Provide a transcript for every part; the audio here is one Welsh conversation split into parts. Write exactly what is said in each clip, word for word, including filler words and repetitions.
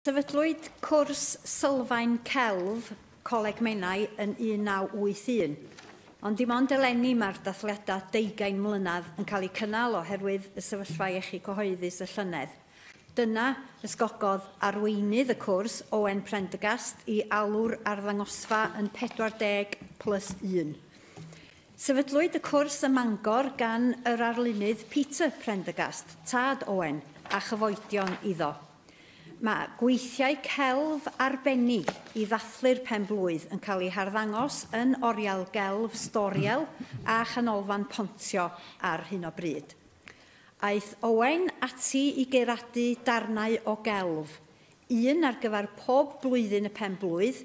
Sefydlwyd cwrs sylfaen celf Coleg Menai yn un naw wyth un, ond dim ond eleni mae'r dathliadau deugain mlynedd yn cael eu cynnal oherwydd y sefyllfa iechyd cyhoeddus y llynedd. Dyna ysgogodd arweinydd y cwrs, Owen Prendergast, i alw'r arddangosfa yn pedwar deg plus un. Sefydlwyd y cwrs ym Mangor gan yr arlunydd Peter Prendergast, tad Owen, a chyfoedion iddo. Mae gweithiau celf arbennig i ddathlu'r penblwydd yn cael eu harddangos yn Oriel Gelf Storiel a Chanolfan Pontio ar hyn o bryd. Aeth Owen ati i geiradu darnau o gelf, un ar gyfer pob blwyddyn y penblwydd,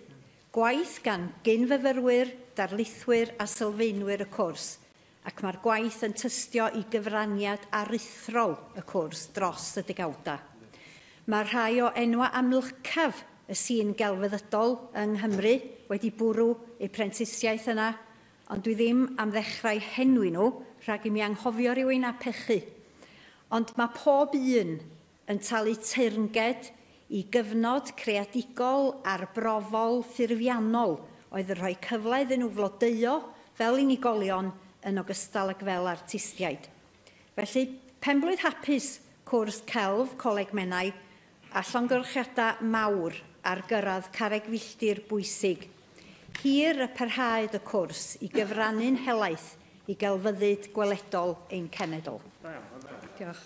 gwaith gan gyn-fyfyrwyr, darlithwyr a sylfaenwyr y cwrs, ac mae'r gwaith yn tystio i gyfraniad aruthrol y cwrs dros y degawdau. Mae rhai o enwa amlycaf y sîn gelfyddydol yng Nghymru wedi bwrw eu prentisiaeth yna, ond dwi ddim am ddechrau henwi nhw rhag i mi anghofio rhywun a pechu. Ond mae pob un yn talu teyrnged i gyfnod creadigol arbrofol ffurfiannol oedd yn rhoi cyfle iddyn nhw flodeuo fel unigolion yn ogystal ag fel artistiaid. Felly, penblwydd hapus cwrs celf Coleg Menai a llongyfarchiadau mawr ar gyrraedd carreg filltir bwysig. Hir y parhaed y cwrs i gyfrannu'n helaeth i gelfyddyd gweledol ein cenedl. Diolch.